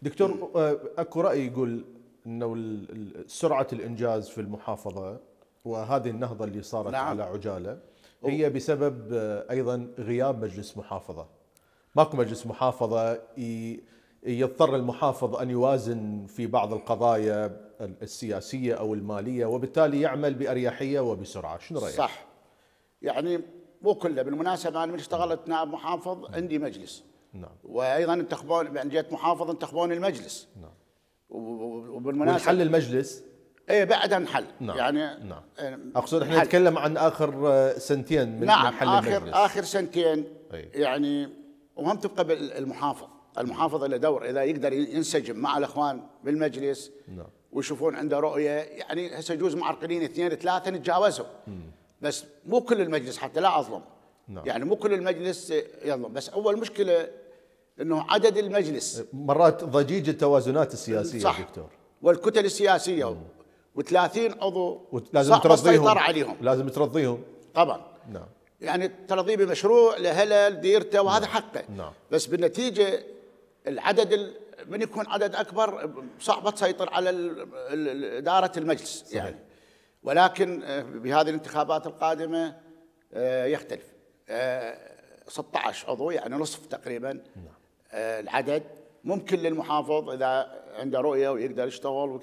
دكتور، اكو رأي يقول انه سرعة الانجاز في المحافظة وهذه النهضة اللي صارت نعم. على عجالة هي بسبب ايضا غياب مجلس محافظة. ماكو مجلس محافظة، يضطر المحافظ ان يوازن في بعض القضايا السياسية او المالية، وبالتالي يعمل بأريحية وبسرعة. شنو رأيك؟ صح. يعني مو كله. بالمناسبة انا من اشتغلت نائب محافظ عندي مجلس. نعم. وايضا انتخبون، يعني جيت محافظ انتخبون المجلس. نعم. وبالمناسبة والحل المجلس. ايه بعد انحل. نعم. يعني نعم. اقصد احنا نتكلم عن اخر سنتين من نعم. حل المجلس. اخر سنتين. أي. يعني وهم تبقى المحافظ له دور، اذا يقدر ينسجم مع الاخوان بالمجلس. نعم. ويشوفون عنده رؤيه. يعني هسه يجوز معرقلين اثنين ثلاثه نتجاوزهم. بس مو كل المجلس، حتى لا اظلم. نعم. يعني مو كل المجلس يظلم. بس اول مشكله انه عدد المجلس مرات ضجيج التوازنات السياسيه. صح. دكتور، والكتل السياسيه و30 عضو لازم صعب السيطره ترضيهم. عليهم. لازم ترضيهم طبعا. نعم. يعني ترضيه بمشروع لهلا ديرته وهذا حقه. نعم. بس بالنتيجه العدد من يكون عدد اكبر صعبه تسيطر على اداره المجلس. صحيح. يعني ولكن بهذه الانتخابات القادمه يختلف. 16 عضو، يعني نصف تقريبا. نعم. العدد ممكن للمحافظ اذا عنده رؤيه ويقدر يشتغل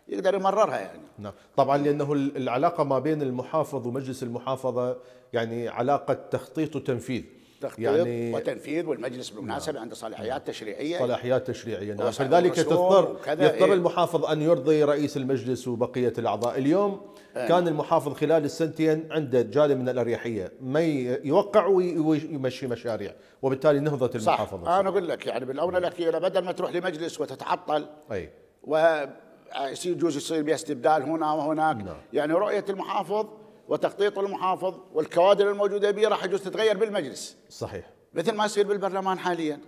ويقدر يمررها. يعني نعم. طبعا لانه العلاقه ما بين المحافظ ومجلس المحافظه يعني علاقه تخطيط وتنفيذ. تخطيط يعني وتنفيذ. والمجلس بالمناسبه نعم. عنده صلاحيات تشريعيه. صلاحيات تشريعيه. نعم. وصل فلذلك الرسوم يضطر المحافظ ان يرضي رئيس المجلس وبقيه الاعضاء. اليوم كان المحافظ خلال السنتين عنده جانب من الاريحيه، ما يوقع ويمشي مشاريع، وبالتالي نهضت المحافظه. صح. انا اقول لك يعني بالاونه الاخيره بدل ما تروح لمجلس وتتعطل اي يجوز يصير بها استبدال هنا وهناك. نعم. يعني رؤيه المحافظ وتخطيط المحافظ والكوادر الموجوده به راح يجوز تتغير بالمجلس. صحيح. مثل ما يصير بالبرلمان حاليا.